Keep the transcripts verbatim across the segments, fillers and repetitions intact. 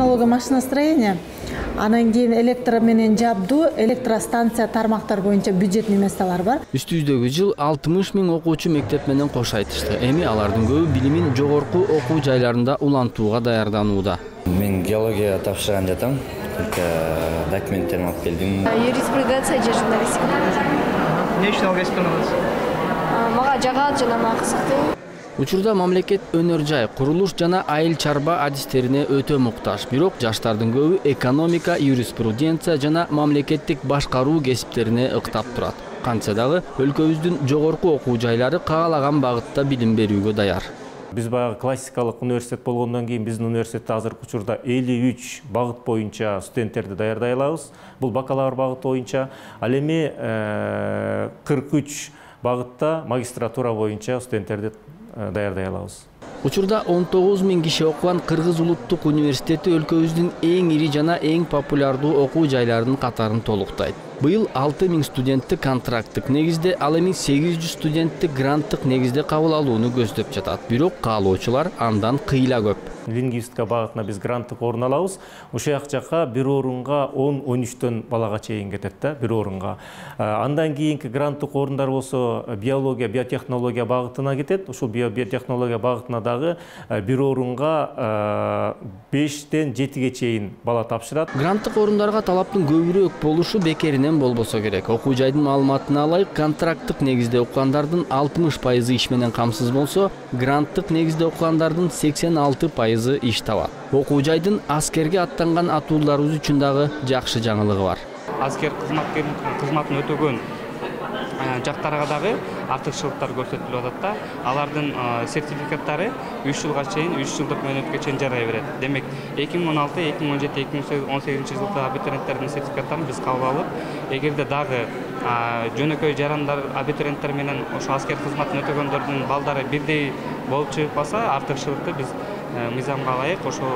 технология машиностроения, анан кийин электро менен жабдуу, электростанция тармактар боюнча бюджетный месталар бар. Үстүздөгү жыл алтымыш миң окуучу мектеп менен кош айтышты. Эми алардын көбү билимин жогорку окуу жайларында улантууга даярданууда. Мен геология тапшырган жатам. Документтеримди алып келдим. Юриспруденция же журналистика. Эмне үчүн ал кесипти таныдыңыз? Мага жагат жана мага кызыктуу. Учурда мамлекет өнөр жай, курулуш жана айыл чарба адистерине өтө муктаж. Бирок жаштардын көбү экономика, юриспруденция жана мамлекеттик башкаруу кесиптерине ыктап турат. Кантса дагы өлкөбүздүн жогорку окуу жайлары каалаган багытта билим берүүгө даяр. Биз баягы классикалык университет болгондон кийин биздин университетте азыркы учурда элүү үч багыт боюнча студенттерди даярдай алабыз. Бул бакалавр багыты боюнча. Ал эми кырк үч багытта магистратура боюнча студенттерди даярдай алабыз. Учурда он тогуз миң киши окуган Кыргыз улуттук университети өлкөбүздүн эң ири жана эң популярдуу окуу жайларынын катарын толуктайт. Быйыл алты миң студентти контракттык негизде, ал эми сегиз жүз студентти гранттык негизде кабыл алууну көздөп жатат. Бирок каалоочулар андан кыйла көп. Лингвистика багытына биз гранттык орун алабыз. Ошол жакка бир орунга он он үчтөн балага чейин кетет да, бир орунга. Андан кийинки гранттык орундар болсо биология, биотехнология багытына кетет. Ушул биотехнология багытына дагы бир орунга бештен жетиге чейин бала тапшырат. Гранттык орундарга талаптын көбүрөөк болушу бекеринен болбосо керек. Окуу жайдын маалыматына ылайык, контракттык негизде окугандардын алтымыш пайызы иш менен камсыз болсо, гранттык негизде окугандардын сексен алты пайызы иш табат. Окуу жайдын аскерге аттанган атууларыбыз үчүн дагы жакшы жаңылыгы бар. Аскер кызматын өтөгөн жактарга дагы артыкчылыктар көрсөтүлүп атат да. Алардын сертификаттары үч жылга чейин, үч жылдык мөөнөткө чейин жарай берет. Демек, эки миң он алты, эки миң он жети, эки миң он сегизинчи жылдагы абитуриенттердин сертификаттарын биз кабыл алып, эгерде дагы жөнөкөй жарандар абитуриенттер менен ошо аскер кызматын өтөгөндөрдүн балдары бирдей болуп чыкпаса, артыкчылыкты биз мыйзамга ылайык ошо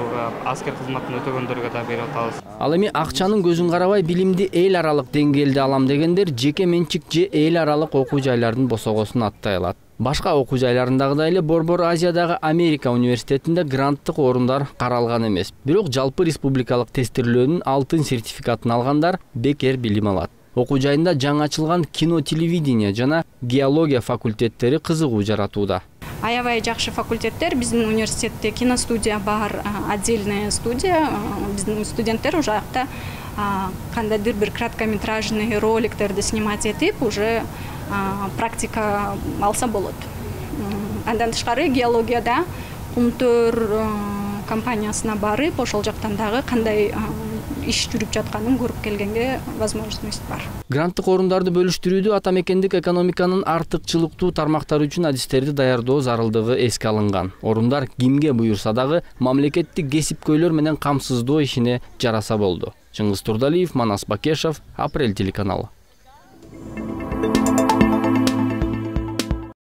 аскер кызматын өтөгөндөргө да берип атабыз. Ал эми акчанын көзүн карабай билимди эл аралык деңгээлде алам дегендер жеке менчик же эл аралык окуу жайлардын босогосун аттай алат. Башка окуу жайларындагыдай эле Борбор Азиядагы Америка университетинде гранттык орундар каралган эмес. Бирок жалпы республикалык тестирлөөнүн алтын сертификатын алгандар бекер билим алат. Окуу жайында жаңы ачылган кино, телевидение жана геология факультеттери кызыгуу жаратууда. Аябай жакшы факультеттер, биздин университетте киностудия бар, отдельная студия. Биздин студенттер уже акта кандайдыр бир краткометражный роликтерди снимать этип, уже практика алса болот. Андан тышкары геологияда Кумтөр компаниясына барып, ошол жактан дагы кандай иш жүрүп жатканын көрүп келгенге возможность бар. Гранттык орундарды бөлүштүрүүдө ата мекендик экономиканын артыкчылыктуу тармактары үчүн адистерди даярдоо зарылдыгы эске алынган. Орундар кимге буюрса дагы мамлекеттик кесипкөйлөр менен камсыздоо ишине жараса болду. Чыңгыз Турдалиев, Манас Бакешев, Апрель телеканалы.